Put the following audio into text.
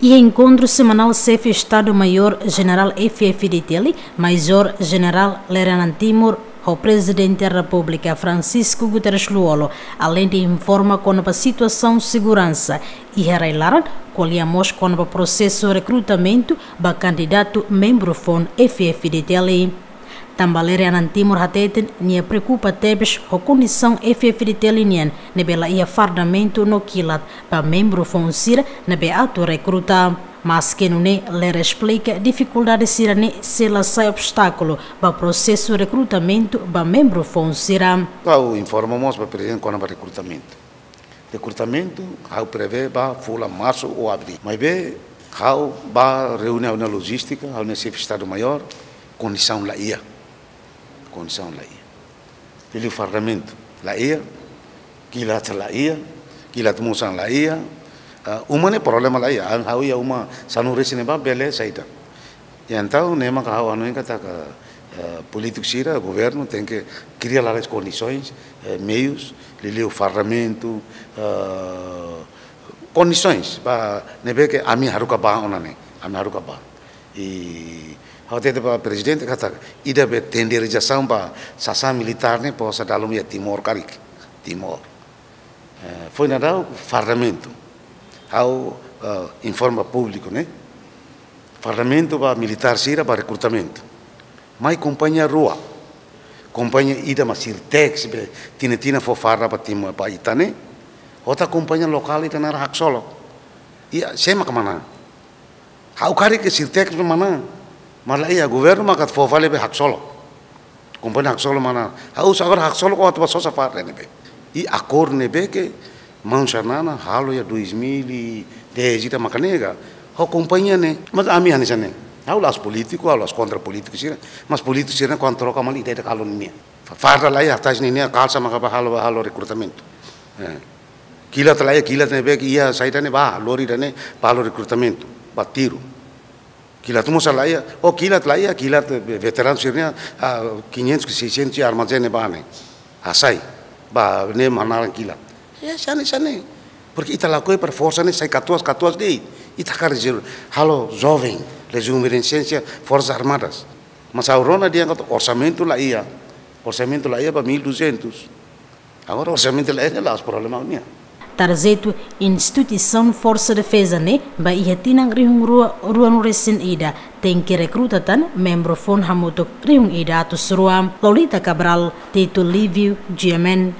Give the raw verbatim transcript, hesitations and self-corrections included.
Iha enkontru semanál Xefe Estadu Maiór Jenerál F-FDTL, Majór Jenerál Lere Anan Timur, ho Prezidente Repúblika Francisco Guterres Lú-Olo, aleinde informa kona-ba situasaun seguransa iha rai-laran, ko'alia mós kona-ba prosesu rekrutamentu ba kandidatu membru foun F-FDTL. Tanba Lere Anan Timur hateten nia preokupa tebes ho kondisaun F-FDTL nian ne'ebé la iha fardamentu no kilat ba membru foun sira ne'ebé atu rekruta. Maske nune'e, Lere esplika difikuldade sira-ne'e sei la sai obstákulu ba prosesu rekrutamentu ba membru foun sira. Ha'u informa mós ba Prezidente kona-ba rekrutamentu. Rekrutamentu ha'u prevee ba fulan marsu ou abríl. Maibé ha'u bá reúne ha'u-nia lojístika, ha'u-nia Xefe Estadu Maiór, kondisaun la iha. Kondisaun la iha. Liuliu fardamentu la iha, kilat la iha, kilat mós la iha. Ah, uma ne'e problema la iha. Ha'u iha uma sanulu-resin ne'ebá bele saida. I entaun ne'e maka ha'u hanoin katak, eh, polítiku sira, governu tenke kria lalais kondisoens, eh, meius, liuliu fardamentu, eh, kondisoens ba ne'ebé ke ami haruka bá ona ne'e, ami haruka bá. I ha'u hatete ba Prezidente katak ida be tenderizasaun ba sasán militár ne'e posa dala ruma iha Timor karik, Timor. Eh, foin daudaun fardamentu. Ha'u, eh, informa públiku ne'e. Fardamentu ba militár sira ba rekrutamentu. Mai kompañia rua. Kompañia ida mak Sirtex be tinan-tinan fó farda ba Timor ba ita ne'e. Ho ita kompañia lokál ida naran Haksolok. Iha, sé maka manán? Ha'u karik ke Sirtex be manán. Maibé la iha, governu maka fó fali be Haksolok. Kompañia Haksolok manán. Ha'u husu agora Haksolok atu bá sosa farda ne'ebé. I akordu ne'ebé ke maun Xanana halo iha dois mil e dez ita maka nega. Ho kompañia ne'e. Mas ami hanesan ne'e. Ha'u la'ós polítiku, ha'u la'ós kontra polítiku sira. Mas polítiku sira kuandu troka mali ida-idak halo ninia. Fa-, farda la iha, tais ninia kalsa maka bá halo, bá halo rekrutamentu. Eh. Kilat la iha, kilat ne'ebé ke iha saida ne'e bá, lori ida-ne'e, bá halo rekrutamentu, bá tiru. Kilat mós la iha, oh kilat la iha, kilat, eh, veteranu sira-nia, ah, quinhentos, seiscentos armazén ne'ebá ne'e. Hasai, bá ne'e mak naran kilat. Ya, hanesan ne'e, hanesan ne'e. Porque ita lakohi para forsa ne'e sai katuas, katuas de'it. Ita hakarak rezervu, halo joven, rejuvenescência, Forças Armadas. Mas ha'u rona dehan katak orsamentu la iha. Orsamentu la iha ba mil duzentos. Agora orsamentu la iha, la'ós problema nian. Tarjetu instituisaun Forsa Defeza ne'e ba iha tinan rihun rua, ruanulu-resin-ida, tenke rekruta tan membru foun hamutuk rihun ida atus rua. Lolita Cabral, Tito Livio, G M N,